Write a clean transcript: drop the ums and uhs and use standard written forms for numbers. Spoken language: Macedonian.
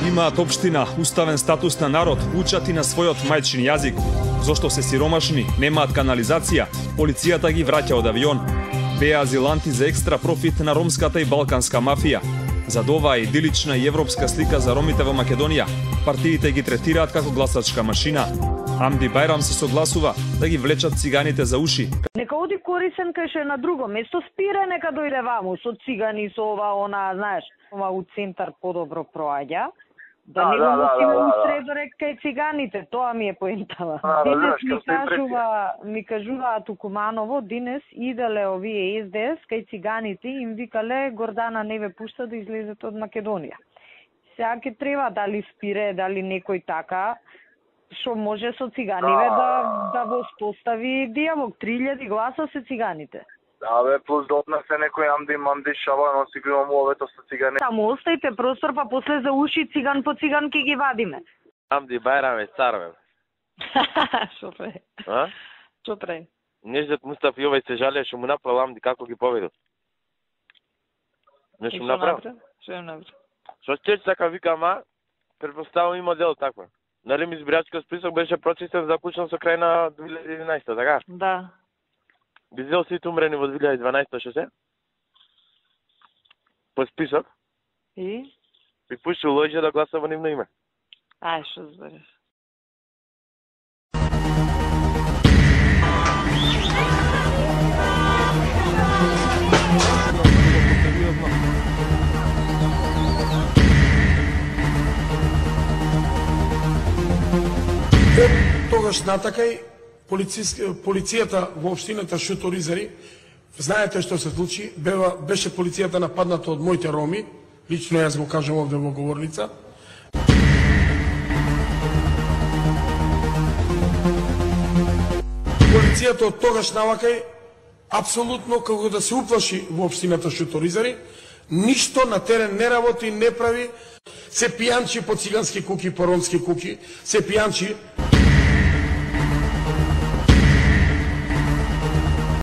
Имаат општина, уставен статус на народ, учат и на својот мајчин јазик. Зошто се сиромашни, немаат канализација, полицијата ги враќа од авион. Беа азиланти за екстра профит на ромската и балканска мафија. Зад оваа идилична и европска слика за ромите во Македонија, партиите ги третираат како гласачка машина. Хамди Бајрам се согласува да ги влечат циганите за уши. Нека оди корисен кај ше на друго место, спире нека дојде ваму со цигани, со ова, она, знаеш, ова у центар подобро проаѓа. Да не го носиме усредорек кај циганите, тоа ми е поентава. Денес ми кажуваат у Куманово, денес иделе овие СДС кај циганите и им викале Гордана не ве пушта да излезете од Македонија. Сега ќе треба дали спире, дали некој така, што може со циганиве да го спостави дијалог. 3000 гласа се циганите. Да бе, плюс да однесе некој амди шава, но си го имам овето со цигани. Само оставите простор, па после за уши циган по циган ки ги вадиме. Хамди Бајрам е цар, бе. Шо пре? А? Шо пре? Неждет Мустаф Јовај се жалее што му направил Амди, како ги поведу. Нешто му направил? Што им направил? Што ќе сака вика, ама, предпоставам има дел таква. Нали ми избирачкиот список беше прочистен, заклучен со крај на 2011, така? Да. Би взел сите умрени во 2012, што се? По список. И? Би пуштил лоѓе да гласа во нивно име. Ај, што збереш? Тогаш натакај полицијата во општината Шуторизари, знаете што се случи, беше полицијата нападната од моите роми, лично јас го кажам овде во говорница. Полицијата од тогаш навакај апсолутно како да се уплаши во општината Шуторизари, ништо на терен не работи, не прави, се пијанчи по цигански куки, по ромски куки, се пијанчи